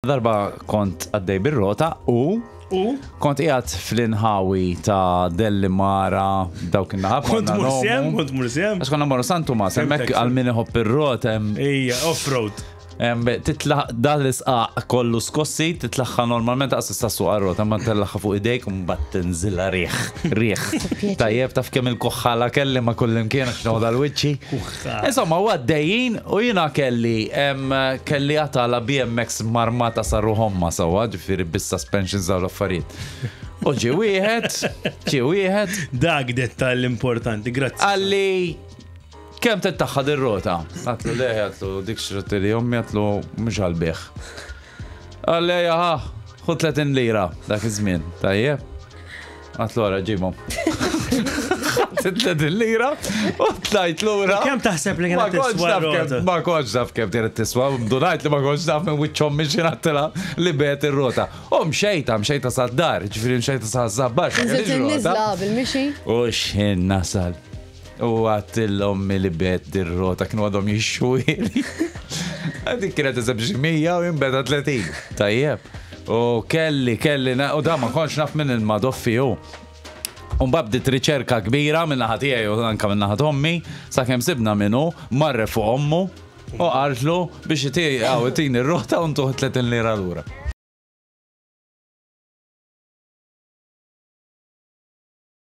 Darba kont għaddej bir-rota u U? kont qiegħed fl-inħawi ta' Delli Mara dawk in-naħa. Kont mursem, kont mursem. Għax konna morru San Tumas, hemmhekk għal min iħobb ir-rota hemm Ejja, off-road. Titla' dan l-isqaq kollu skossi, titlaħħa normalment għas tista' suq għar-rota, ma tellagħha fuq idejk u mbagħad tinżilha riħ, riħ. Tajjeb taf kemm il-kuħħala kelli ma' kullimkien għax noħodha l-wiċċi. Insomma, u għaddejjin u jiena kelli kelli għatala BMX marmata sa ruħomma sewwa, ġifieri bis-suspensions dawn l-affarijiet. U ġie wieħed, ġie wieħed. Dak dettall importanti, grazzi. Qalli Kemm tittaħħa dir-rota? Għatlu le, għatlu dik xrati li ommi għatlu mhux għal-bih. Għalli jaha, ħu 30 lira dak iż-żmien, tajjeb. Għatlu għara ġibhom. 30 lira u tlajt lura. Kemm taħseb li kienet tiswa rota? Ma kontx naf kemm kienet tiswa, dunajt li ma kontx naf minn wiċċ ommi xi ngħattilha li begħet ir-rota. U mxejta, mxejta sad-dar, ġifieri mxejta sa żabbar. Nżilt in-niżla bil-mixi. U x'ħin nasal. U għadt l-ommi li bet dir-rota kienu għadhom jixxuhieli. Dik kienet eżeb xi 100 u jien beda 30. Tajjeb. U kelli, kelli, u da ma kontx naf minn il-madoffi hu. U mbagħad bdiet riċerka kbira minn naħa tiegħi u anke minn naħa ommi, sakemm sibna min hu, marre fuq ommu u qaltlu biex itini r-rota u ntuh 30 lira lura.